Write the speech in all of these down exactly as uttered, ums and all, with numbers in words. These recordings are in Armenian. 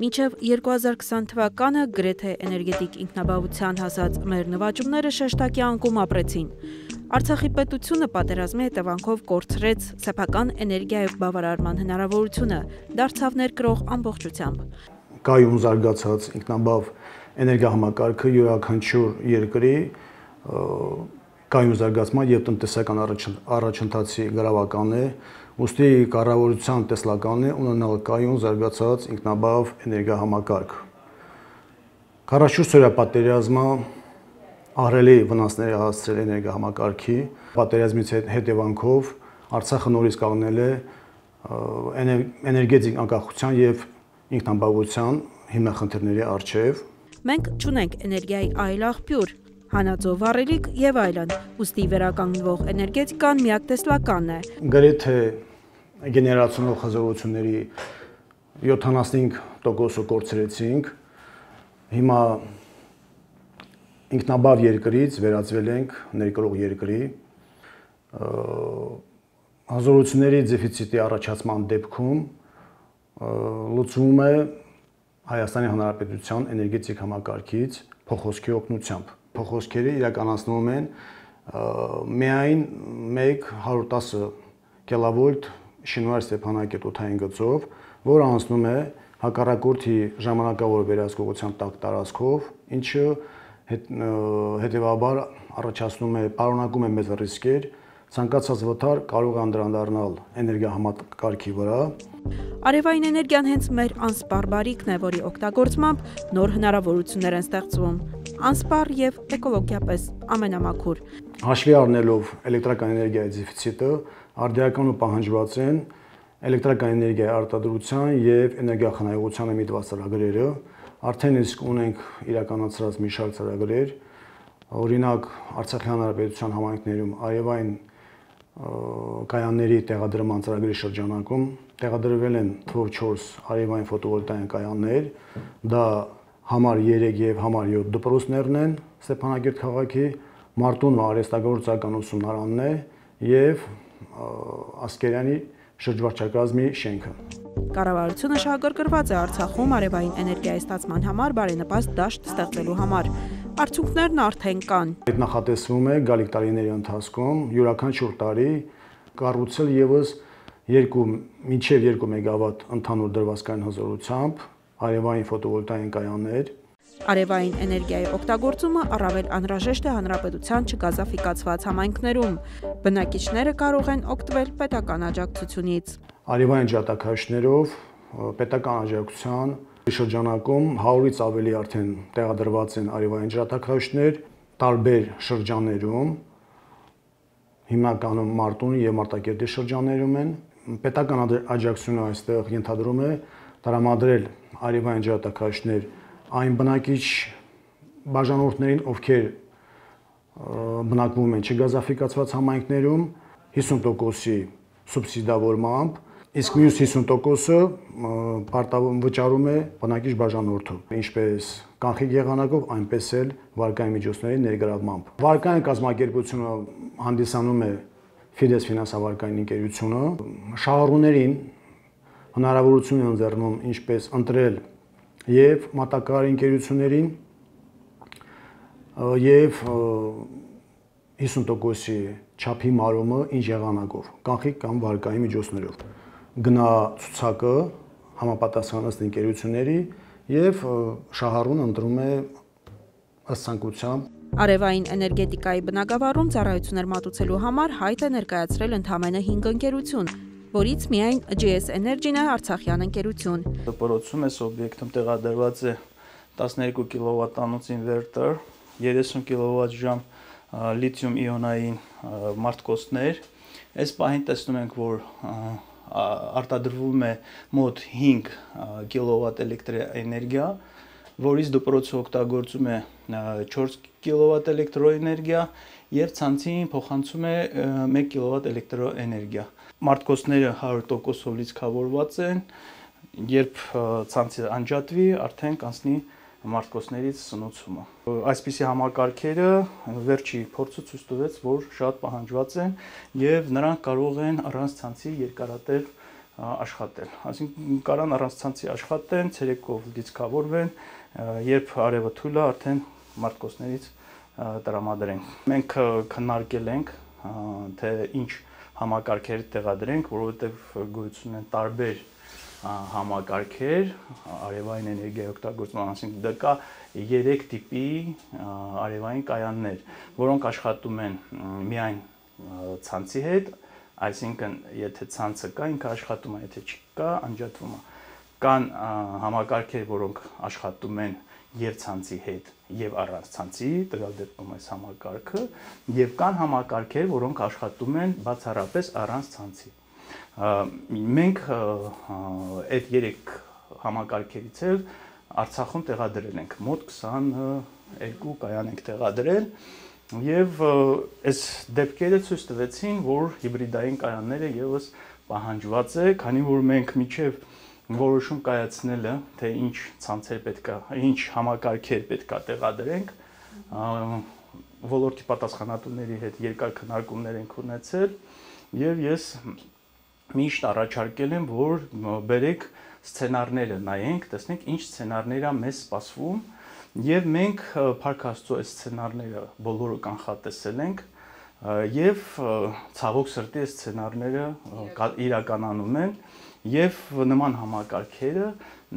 Մինչև երկու հազար քսան թվականը գրեթե էներգետիկ ինքնաբավության հասած մեր նվաճումները շեշտակի անկում ապրեցին։ Արցախի պետությունը պատերազմի հետևանքով կորցրեց սեփական էներգիայով բավարարման հնարավորությունը, դարձավ ներկրող ամբողջությամբ։ Կայուն զարգացած ինքնաբավ էներգահամակարգը յուրաքանչյուր երկրի կայուն զարգացման եւ տնտեսական առաջընթացի գրավական է, ուստի կառավարության տեսլականն է ունենալ կայուն զարգացած ինքնաբավ էներգահամակարգ։ քառասունչորս օրյա պատերազմը ահռելի վնասներ է հասցրել էներգահամակարգի, պատերազմից հետևանքով Արցախը նորից կանգնել է էներգետիկ անկախության եւ ինքնաբավության հիմնախնդիրների առջեւ։ Մենք չունենք էներգիայի այլ աղբյուր, հանածո վառելիք եւ այլն, ուստի վերականգնվող էներգետիկան միակ տեսլականն է։ Գրեթե գեներացիոնալ խզողությունների յոթանասունհինգ տոկոսը կորցրեցինք։ Հիմա ինքնաբավ երկրից վերածվել ենք ներկրող երկրի։ Հզորությունների դեֆիցիտի առաջացման դեպքում լուծվում է Հայաստանի Հանրապետության էներգետիկ համակարգից փոխոսքի օգնությամբ։ Փոխոսքերը իրականացնում են միայն մեկ հարյուր տասը կիլովոլտ շինվար Ստեփանակերտ օդային գծով, որը անցնում է հակառակորդի ժամանակավոր վերահսկողության տակ տարածքով, ինչը հետևաբար առաջացնում է, պարունակում է մեծ ռիսկեր, ցանկացած վթար կարող է անդրադառնալ էներգահամակարգի վրա։ Արևային էներգիան հենց մեր անսպառ բարիքն է, որի օգտագործմամբ նոր հնարավորություններ են ստեղծվում, անսպառ եւ էկոլոգիապես ամենամաքուր։ Հաշվի առնելով էլեկտրական էներգիայի դեֆիցիտը, արդիականու պահանջված են էլեկտրական էներգիայի արտադրության եւ էներգախնայողությանը միտված ծրագրերը, արդեն իսկ ունենք իրականացրած մի շարք ծրագրեր, օրինակ Արցախի Հանրապետության համայնքներում արևային կայանների տեղադրման ծրագրի շրջանակում տեղադրվել են թվով չորս արևային ֆոտովոլտային կայաններ, դա համար երեք եւ համար յոթ դպրոցներն են Ստեփանակերտ քաղաքի, Մարտունու արհեստագործական ուսումնարանն է եւ Ասկերյանի շրջվարչակազմի շենքը։ Կառավարությունը շահագրգռված է Արցախում արևային էներգիայի ստացման համար բարենպաստ դաշտ ստեղծելու համար։ Արդյունքներն արդեն կան։ Այդ նախատեսվում է գալիք տարիների ընթացքում յուրաքանչյուր տարի կառուցել եւս երկու մինչև երկու մեգավատ ընդհանուր դրվածքային հզորությամբ արևային ֆոտովոլտային կայաններ։ Արևային էներգիայի օգտագործումը առավել անհրաժեշտ է հանրապետության չգազաֆիկացված համայնքներում։ Բնակիչները կարող են օգտվել պետական աջակցությունից։ Արևային ջրատաքարյուծներով պետական աջակցության շրջանակում հարյուրից ավելի արդեն տեղադրված են արևային ջրատաքարյուծներ տարբեր շրջաններում, հիմնականում Մարտունի եւ Մարտակերտի շրջաններում են։ Պետական աջակցությունը այստեղ ենթադրում է տրամադրել արևային ջրատաքարյուծներ այն բնակիչ բաժանորդներին, ովքեր բնակվում են չգազաֆիկացված համայնքներում, հիսուն տոկոսի սուբսիդավորմամբ, իսկ մյուս հիսուն տոկոսը վճարում է բնակիչ բաժանորդը, ինչպես կանխիկ եղանակով, այնպես էլ վարկային միջոցների ներգրավմամբ։ Վարկային կազմակերպությունը հանդիսանում է Fides ֆինանսավարկային ընկերությունը, շահառուներին հնարավորություն են ընձեռնում ինչպես ընտրել եւ մատակարարի ընկերություններին եւ հիսուն տոկոսի չափի մարումը ինչ եղանակով, կանխիկ կամ վարկային միջոցներով։ Գնա ցուցակը համապատասխան ըստ ընկերությունների եւ շահառուն ընտրում է ըստ ցանկության։ Արևային էներգետիկայի բնագավառում ծառայություններ մատուցելու համար հայտ է ներկայացրել ընդամենը հինգ ընկերություն, որից միայն Ջի Էս Energy-ն է արցախյան ընկերություն։ Դպրոցում այս օբյեկտում տեղադրված է տասներկու կիլովատանոց ինվերտոր, երեսուն կիլովատժամ լիթիում-իոնային մարտկոցներ։ Այս պահին տեսնում ենք, որ արտադրվում է մոտ հինգ կիլովատ էլեկտրաէներգիա, որից դպրոցը օգտագործում է չորս կիլովատ էլեկտրոէներգիա եւ ցանցին փոխանցում է մեկ կիլովատ էլեկտրոէներգիա։ Մարտկոցները հարյուր տոկոսով լիցքավորված են, երբ ցանցը անջատվի, արդեն կանցնի մարտկոցներից սնուցումը։ Այսպիսի համակարգերը վերջի փորձը ցույց տվեց, որ շատ պահանջված են եւ նրանք կարող են առանց ցանցի երկարատև աշխատել։ Այսինքն կարան առանց ցանցի աշխատեն, ցերեկով լիցքավորվեն, երբ արևը թույլ է, արդեն մարտկոցներից տրամադրենք։ Մենք քննարկել ենք, թե ինչ համակարգեր տեղադրենք, որովհետև գոյություն են տարբեր համակարգեր արևային էներգիայի օգտագործման, այսինքն դա կա երեք տիպի արևային կայաններ, որոնք աշխատում են միայն ցանցի հետ, այսինքն եթե ցանցը կա, ինքը աշխատում է, եթե չկա, անջատվում է։ Կան համակարգեր, որոնք աշխատում են եւ ցանցի հետ եւ առանց ցանցի, տվյալ դեպքում այս համակարգը, եւ կան համակարգեր, որոնք աշխատում են բացառապես առանց ցանցի։ Մենք այդ երեք համակարգերից էլ Արցախում տեղադրել ենք, մոտ քսաներկու կայան ենք տեղադրել եւ այս դեպքերը ցույց տվեցին, որ հիբրիդային կայանները եւս պահանջված է, քանի որ մենք միջև որոշում կայացնելը, թե ինչ ցանցեր պետքա, ինչ համակարգեր պետքա տեղադրենք, ոլորտի պատասխանատուների հետ երկար քննարկումներ ենք ունեցել եւ ես միշտ առաջարկել եմ, որ բերեք սցենարները նայենք, տեսնենք ինչ սցենարներ է մեզ սպասվում եւ մենք Փառք Աստծո այս սցենարները բոլորը կանխատեսել ենք եւ ցավոք սրտի այս սցենարները իրականանում են եւ նման համակարգերը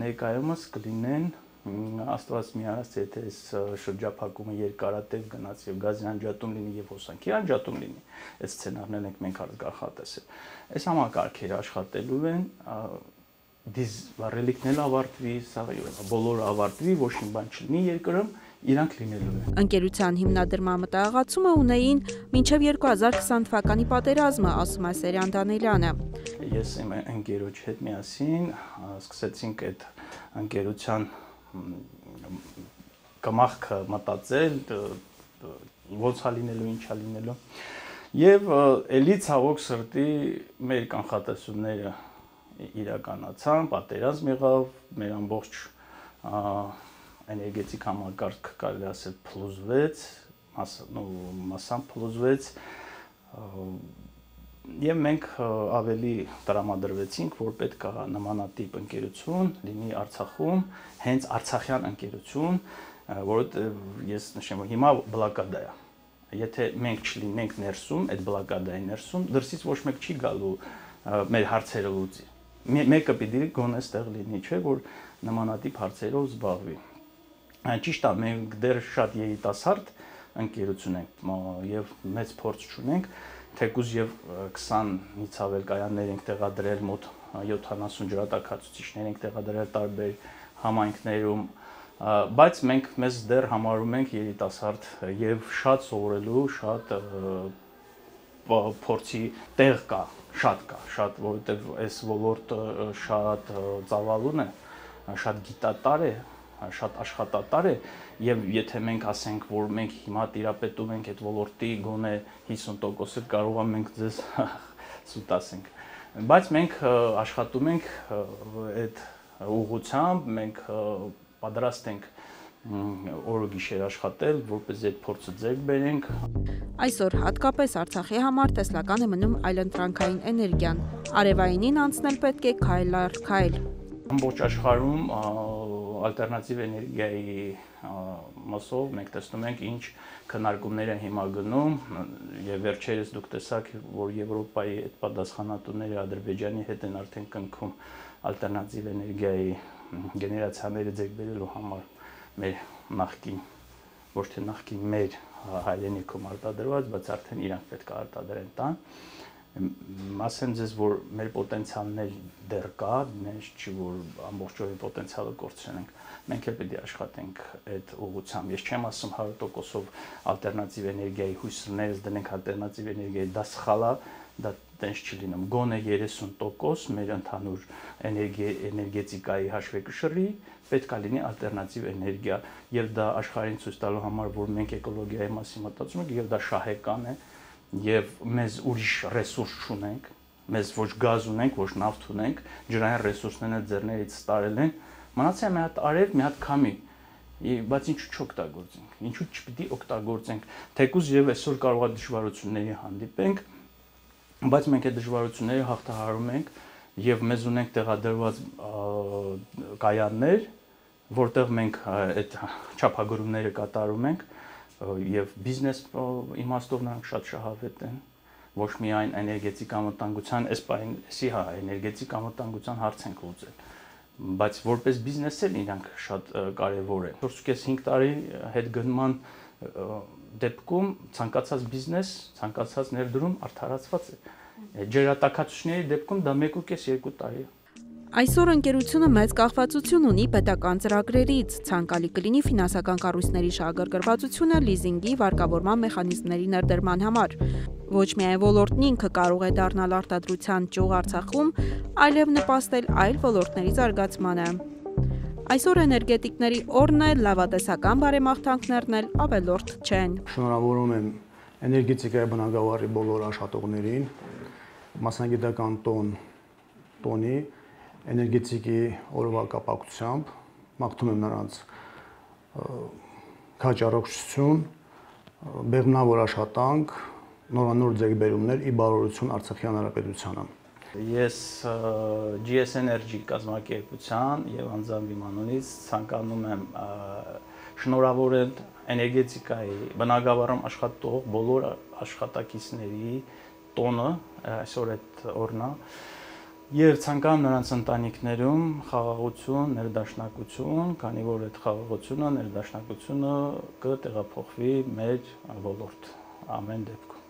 ներկայումս կլինեն Աստված միանաց, եթե այս շրջափակումը երկարատև գնաց եւ գազի անջատում լինի եւ հոսանքի անջատում լինի, այս սցենարներն ենք մենք կանխատեսել։ Այս համակարգերը աշխատելու են, դիզ ռելիկն էլ ավարտվի, սա բոլորը ավարտվի, ոչ մի բան չլինի երկրում, իրանք լինելու են։ Ընկերության հիմնադրման մտահղացումը ունեին մինչև երկու հազար քսան թվականի պատերազմը, ասում է Սերյան Դանելյանը։ Ես իմ ընկերոջ հետ միասին սկսեցինք այդ ընկերության կամախքը մտածել, ոնց է լինելու, ինչ է լինելու։ Եվ էլի ցավոք սրտի մեր կանխատեսումները իրականացան, պատերազմ եղավ, մեր ամբողջ էներգետիկ համակարգ կարելի ասել փլուզվեց, մասամբ փլուզվեց, եւ մենք ավելի տրամադրվեցինք, որ պետք է նմանատիպ ընկերություն լինի Արցախում, հենց արցախյան ընկերություն, որովհետեւ ես նշեմ, որ հիմա բլոկադա է։ Եթե մենք չլինենք ներսում, այդ բլոկադայի ներսում, դրսից ոչ մեկ չի գալու մեր հարցերը լուծի։ Մեկը պիտի գոնե այստեղ լինի, չէ՞ որ նմանատիպ հարցերով զբաղվի։ Ճիշտ է, մենք դեռ շատ երիտասարդ ընկերություն ենք եւ մեծ փորձ չունենք, թեկուզ եւ քսանից ավել կայաններ ենք տեղադրել, մոտ յոթանասուն ջրատաքացուցիչներ ենք տեղադրել տարբեր համայնքներում, բայց մենք մեզ դեռ համարում ենք երիտասարդ եւ շատ սովորելու, շատ փորձի տեղ կա, շատ կա, շատ, որովհետեւ այս ոլորտը շատ ծավալուն է, շատ գիտատար է, շատ աշխատատար է եւ եթե մենք ասենք, որ մենք հիմա տիրապետում ենք այդ ոլորտի գոնե հիսուն տոկոսը, կարող է մենք ձեզ սուտ ասենք, բայց մենք աշխատում ենք այդ ուղղությամբ, մենք պատրաստ ենք օր ու գիշեր աշխատել, որպեսզի այդ փորձը ձեռք բերենք։ Այսօր հատկապես Արցախի համար տեսլական է մնում այլընտրանքային էներգիան։ Արևայինին անցնել պետք է քայլ առ քայլ։ Ամբողջ աշխարհում ալտերնատիվ էներգիայի մասով մենք տեսնում ենք ինչ քննարկումներ են հիմա գնում եւ վերջերս դուք տեսաք, որ Եվրոպայի այդ պատասխանատուները Ադրբեջանի հետ են արդեն կնքում ալտերնատիվ էներգիայի գեներացիաները ձեռք բերելու համար մեր նախկին, ոչ թե նախկին մեր հայրենիքում արտադրված, բայց արդեն իրանք պետք է արտադրեն տան։ Ասեմ ձեզ, որ մեր պոտենցիալներ դեռ կա, նենց չի, որ ամբողջովին պոտենցիալը կորցնենք, մենք էլ պետք է աշխատենք այդ ուղղությամբ։ Ես չեմ ասում հարյուր տոկոսով ալտերնատիվ էներգիայի հույսերից դնենք ալտերնատիվ էներգիայի, դա սխալ է, դա տենց չի լինում։ Գոնե երեսուն տոկոս մեր ընդհանուր էներգետիկայի հաշվեկշռի պետք է լինի ալտերնատիվ էներգիա, եւ դա աշխարհին ցույց տալու համար, որ մենք էկոլոգիայի մասին մտածում ենք, եւ դա շահեկան է, եւ մեզ ուրիշ ռեսուրս չունենք, մեզ ոչ գազ ունենք, ոչ նավթ ունենք, ջրային ռեսուրսները ձեռներից տարել են, մնացել է մի հատ արև, մի հատ քամի, բայց ինչու չօգտագործենք, ինչու չպիտի օգտագործենք, թեկուզ եւ այսօր կարող է դժվարությունների հանդիպենք, բայց մենք այդ դժվարությունները հաղթահարում ենք եւ մեզ ունենք տեղադրված կայաններ, որտեղ մենք այդ չափագրումները կատարում ենք եւ բիզնես իմաստով նրանք շատ շահավետ են, ոչ միայն էներգետիկ անվտանգության, այսպիսի հա էներգետիկ անվտանգության հարց ենք լուծել, բայց որպես բիզնես էլ իրանք շատ կարեւոր են։ չորս հինգ տարի հետ գնման դեպքում ցանկացած բիզնես, ցանկացած ներդրում արդարացված է։ Ջրատաքացուցիչների դեպքում դա մեկ ու կես երկու տարի է։ Այսօր ընկերությունը մեծ կախվածություն ունի պետական ծրագրերից, ցանկալի կլինի ֆինանսական կառույցների շահագրգռվածությունը լիզինգի վարկավորման մեխանիզմների ներդրման համար։ Ոչ միայն ոլորտն ինքը կարող է դառնալ արտադրության ճյուղ Արցախում, այլև նպաստել այլ ոլորտների զարգացմանը։ Այսօր էներգետիկների օրն է, լավատեսական բարեմաղթանքներն էլ ավելորդ չեն։ Շնորհավորում եմ էներգետիկայի բնագավառի բոլոր աշխատողներին, մասնագիտական տոն տոնի էներգետիկի օրվա կապակցությամբ մաղթում եմ նրանց քաջ առողջություն, բեղմնավոր աշխատանք, նորանոր ձեռքբերումներ ի բարօրություն Արցախի Հանրապետությանը։ Ես G S Energy կազմակերպության եւ անձամբ իմ անունից ցանկանում եմ շնորհավորել էներգետիկայի բնագավառում աշխատող բոլոր աշխատակիցների տոնը, այսօր այդ օրն է, եւ ցանկանում նրանց ընտանիքներում խաղաղություն, ներդաշնակություն, քանի որ այդ խաղաղությունը, ներդաշնակությունը կտեղափոխվի մեր ոլորտ ամեն դեպքում։